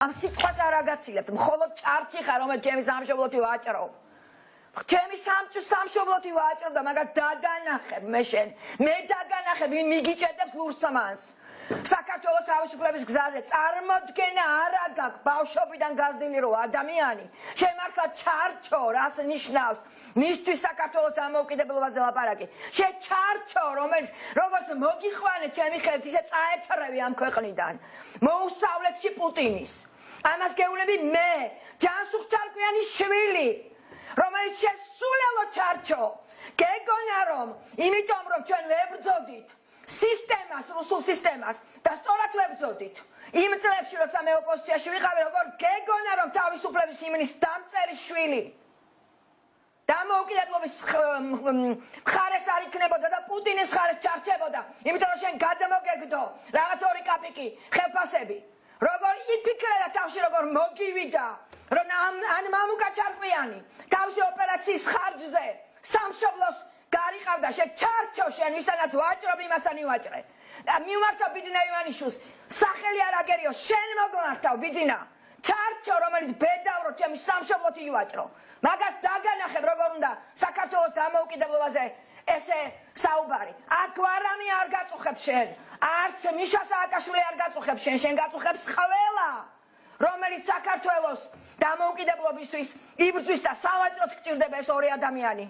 Am სიტყვას არ აგაცილებთ, მხოლოდ ჭარჭი ხარ, რომელიც ჩემი სამშობლოთი ვაჭრო. ჩემი სამშობლოთი ვაჭრო და მაგას დაგანახებ მე შენ. მე დაგანახებ, ვინ მიგიჭედებს ლურსმანს. საქართველოს თავისუფლების გზაზე წარმოდგენა არ აქვს ბავშვობიდან გაზრდილი რო ადამიანი შემართლა ჩარჩო რას ნიშნავს მისთვის საქართველოს დამოუკიდებლობაზე ლაპარაკი შე ჩარჩო რომელიც როგორც მოგიხვანე ჩემი ხელით ისე წაეთრევი ამ ქვეყნიდან მოუსწავლეთში პუტინის ამას გეუბნები მე ჯანსუღ-ჩარკვიანი შვილი რომელიც შესულელო ჩარჩო გეგონა რომ იმიტომ რომ ჩვენ ვებრძოდით სისტემას, რუსულ სისტემას და სწორად ვებრძოდით. იმ წლებში, როცა მე ოპოზიციაში ვიყავი, როგორ გეგონა რომ თავისუფლების ჰიმნის დამწერი შვილი დამოუკიდებლობის მხარეს არ იქნებოდა და პუტინის მხარეს ჩარჩებოდა. იმიტომ რომ შენ გადმოგეგდო რაღაც 2 კაპიკი ხელფასები. როგორ იფიქრე და თავში როგორ მოგივიდა, რომ ან მამუკა ჩარკვიანი თავში ოპერაციის ხარჯზე სამშობლოს გარიყავდა შე ჩარჩო შენ ვისთანაც ვაჭრობ იმასთან ივაჭრე და მიმართავ ბიძინა ივანიშვილს სახელი არ აგერიო შენ მოგმართავ ბიძინა ჩარჩო რომელიც ბედავრო ჩემი სამშობლოთი ივაჭრო მაგას დაგანახებ როგორ უნდა საქართველოს დამოუკიდებლობაზე ესე საუბარი აქ ვარამი არ გაწუხებს შენ არც მიშა სააკაშვილი არ გაწუხებს შენ გაწუხებს ყველა რომელიც საქართველოს დამოუკიდებლობისთვის იბრძვის და სავაჭროდ გჭირდება ეს 2 ადამიანი